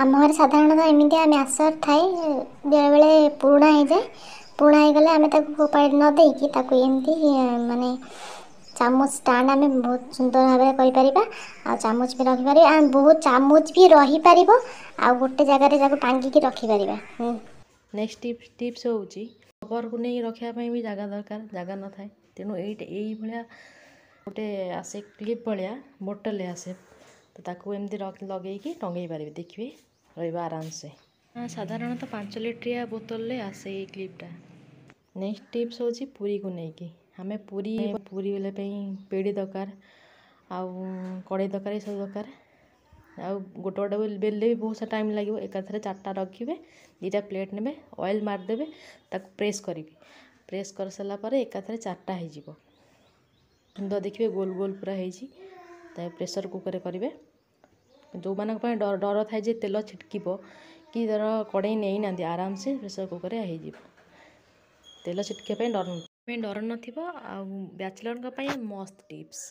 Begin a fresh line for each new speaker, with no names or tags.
ଆମ ଘରେ ସାଧାରଣତଃ ଏମିତିଆ ମ୍ୟାସର୍ ଥାଏ, ବେଳେବେଳେ ପୁରୁଣା ହେଇଯାଏ। ପୁରୁଣା ହେଇଗଲେ ଆମେ ତାକୁ ଫୋପାଡ଼ି ନ ଦେଇକି ତାକୁ ଏମିତି ମାନେ ଚାମଚ ଷ୍ଟାଣ୍ଡ ଆମେ ବହୁତ ସୁନ୍ଦର ଭାବରେ କରିପାରିବା, ଆଉ ଚାମଚ ବି ରଖିପାରିବା, ବହୁତ ଚାମଚ ବି ରହିପାରିବ, ଆଉ ଗୋଟେ ଜାଗାରେ ତାକୁ ଟାଙ୍ଗିକି ରଖିପାରିବା।
ନେକ୍ସଟ ଟିପ୍ସ ହେଉଛି, କଭରକୁ ନେଇ ରଖିବା ପାଇଁ ବି ଜାଗା ଦରକାର, ଜାଗା ନଥାଏ। ତେଣୁ ଏଇଟା ଏଇଭଳିଆ ଗୋଟେ ଆସେ, କ୍ଲିପ୍ ଭଳିଆ ବୋଟଲରେ ଆସେ, ତ ତାକୁ ଏମିତି ଲଗେଇକି ଟଙ୍ଗେଇ ପାରିବେ। ଦେଖିବେ, ରହିବ ଆରାମସେ। ସାଧାରଣତଃ 5 ଲିଟରିଆ ବୋତଲରେ ଆସେ ଏଇ କ୍ଲିପ୍ଟା। ନେକ୍ସଟ ଟିପ୍ସ ହେଉଛି ପୁରୀକୁ ନେଇକି। ଆମେ ପୁରୀ ବେଲିବା ପାଇଁ ପେଡ଼ି ଦରକାର, ଆଉ କଡ଼େଇ ଦରକାର, ଏସବୁ ଦରକାର। ଆଉ ଗୋଟେ ଗୋଟେ ବେଲିଲେ ବି ବହୁତ ସାରା ଟାଇମ୍ ଲାଗିବ। ଏକାଥରେ 4ଟା ରଖିବେ, 2ଟା ପ୍ଲେଟ୍ ନେବେ, ଅଏଲ୍ ମାରିଦେବେ, ତାକୁ ପ୍ରେସ୍ କରିବେ। ପ୍ରେସ୍ କରିସାରିଲା ପରେ ଏକାଥରେ 4ଟା ହେଇଯିବ। ସୁନ୍ଦର ଦେଖିବେ, ଗୋଲ ଗୋଲ ପୁରା ହେଇଛି। ତା ପ୍ରେସର୍ କୁକର୍ରେ କରିବେ। ଯେଉଁମାନଙ୍କ ପାଇଁ ଡର ଥାଏ ଯେ ତେଲ ଛିଟକିବ କି ଧର କଡ଼େଇ ନେଇନାହାନ୍ତି, ଆରାମସେ ପ୍ରେସର୍ କୁକର୍ରେ ହେଇଯିବ। ତେଲ ଛିଟକିବା ପାଇଁ ଡର ନଥିବ। ଆଉ ବ୍ୟାଚଲର୍ଙ୍କ ପାଇଁ ମସ୍ତ ଟିପ୍ସ।